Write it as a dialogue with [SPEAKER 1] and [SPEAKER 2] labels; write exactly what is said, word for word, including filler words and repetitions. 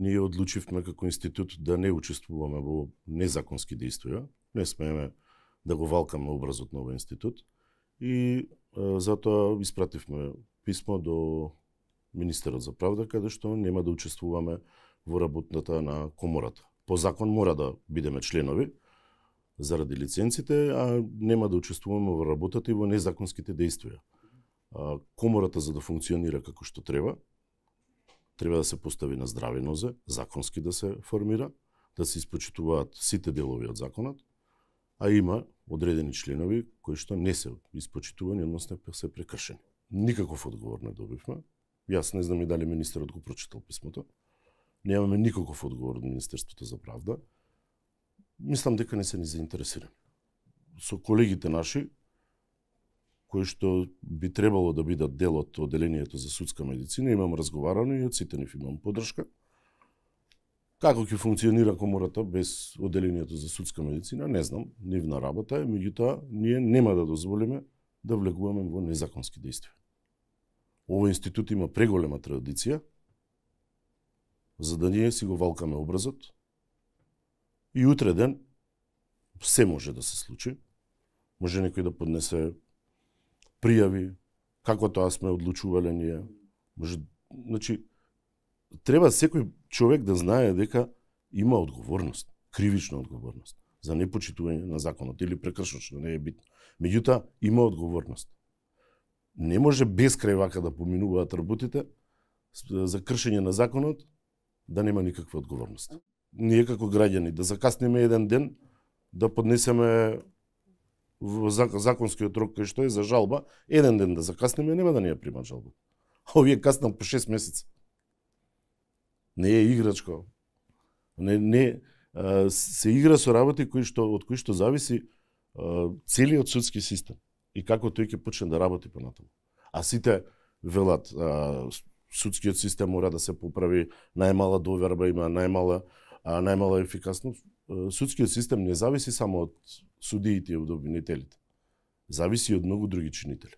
[SPEAKER 1] Ние одлучивме како институт да не учествуваме во незаконски действија. Не смееме да го валкаме образот на овој институт. И а, затоа испративме писмо до министерот за правда, каде што нема да учествуваме во работната на комората. По закон мора да бидеме членови заради лиценците, а нема да учествуваме во работата и во незаконските действија. А, комората за да функционира како што треба, треба да се постави на здрави нозе, законски да се формира, да се испочитуваат сите делови од законот, а има одредени членови кои што не се испочитувани, односно се прекршени. Никаков одговор не добивме. Јас не знам и дали министерот го прочитал писмото. Немаме никаков одговор од Министерството за правда. Мислам дека не се ни заинтересирани. Со колегите наши, кои што би требало да бидат дел од оделението за судска медицина, имам разговарано и од сите нив имам поддршка. Како ќе функционира комората без оделението за судска медицина, не знам, нивна работа е, меѓутоа ние нема да дозволиме да влегуваме во незаконски действија. Овој институт има преголема традиција, за да ние си го валкаме образот и утре ден се може да се случи. Може некој да поднесе пријави, како тоа сме одлучувале ние. Може, значи, треба секој човек да знае дека има одговорност, кривична одговорност за непочитување на законот или прекршош, не е битно. Меѓутоа, има одговорност. Не може безкрај вака да поминуваат работите за кршење на законот, да нема никаква одговорност. Ние како граѓани да закаснеме еден ден, да поднесеме во законскиот рок кој што е за жалба, еден ден да закаснеме, нема да ни ја примат жалба. А овие каснат по шест месеца. Не е играчко. Не, не, а, се игра со работи кои што, од кои што зависи а, целиот судски систем и како тој ќе почне да работи понатаму. А сите велат, а, судскиот систем мора да се поправи, најмала доверба има, најмала, а, најмала ефикасност. Судскиот систем не зависи само од судиите и од обвинителите. Зависи од многу други чинители.